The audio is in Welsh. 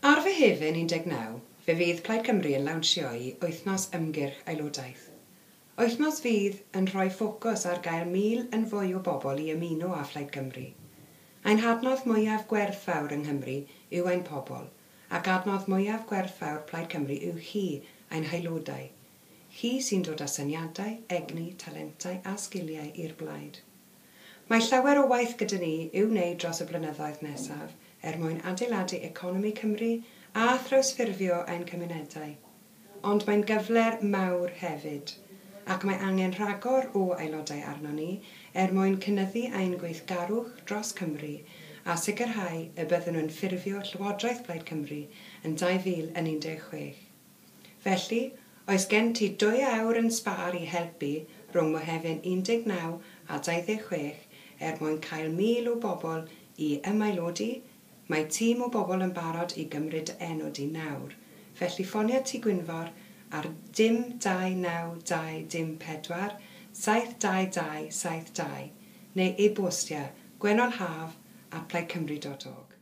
Ar Fehefin 19, fe fydd Plaid Cymru yn lawnsio'i Wythnos Ymgyrch Aelodaeth. Wythnos fydd yn rhoi ffocws ar gael 1,000 yn fwy o bobl i ymuno â Phlaid Cymru. Ein hadnodd mwyaf gwerthfawr yng Nghymru yw ein pobl, ac adnodd mwyaf gwerthfawr Plaid Cymru yw chi, ein haelodau. Chi sy'n dod â syniadau, egni, talentau a sgiliau i'r blaid. Mae llawer o waith gyda ni i'w wneud dros y blynyddoedd nesaf er mwyn adeiladu economi Cymru a thrawsffurfio ein cymunedau. Ond mae'n gyfle mawr hefyd, ac mae angen rhagor o aelodau arnon ni er mwyn cynyddu ein gweithgarwch dros Cymru a sicrhau y byddwn yn ffurfio Llywodraeth Plaid Cymru yn 2016. Felly, oes gen ti 2 awr yn sbâr i helpu rhwng Mehefin 19 a 26 er mwyn cael 1,000 o bobl i ymaelodi? Mae tîm o bobl yn barod i gymryd enw di nawr. Felly ffonia Tŷ Gwynfor ar 0 2 9 2 0 4 7 2 2 7 2 neu e-bostia gwennolhaf@plaidcymru.org.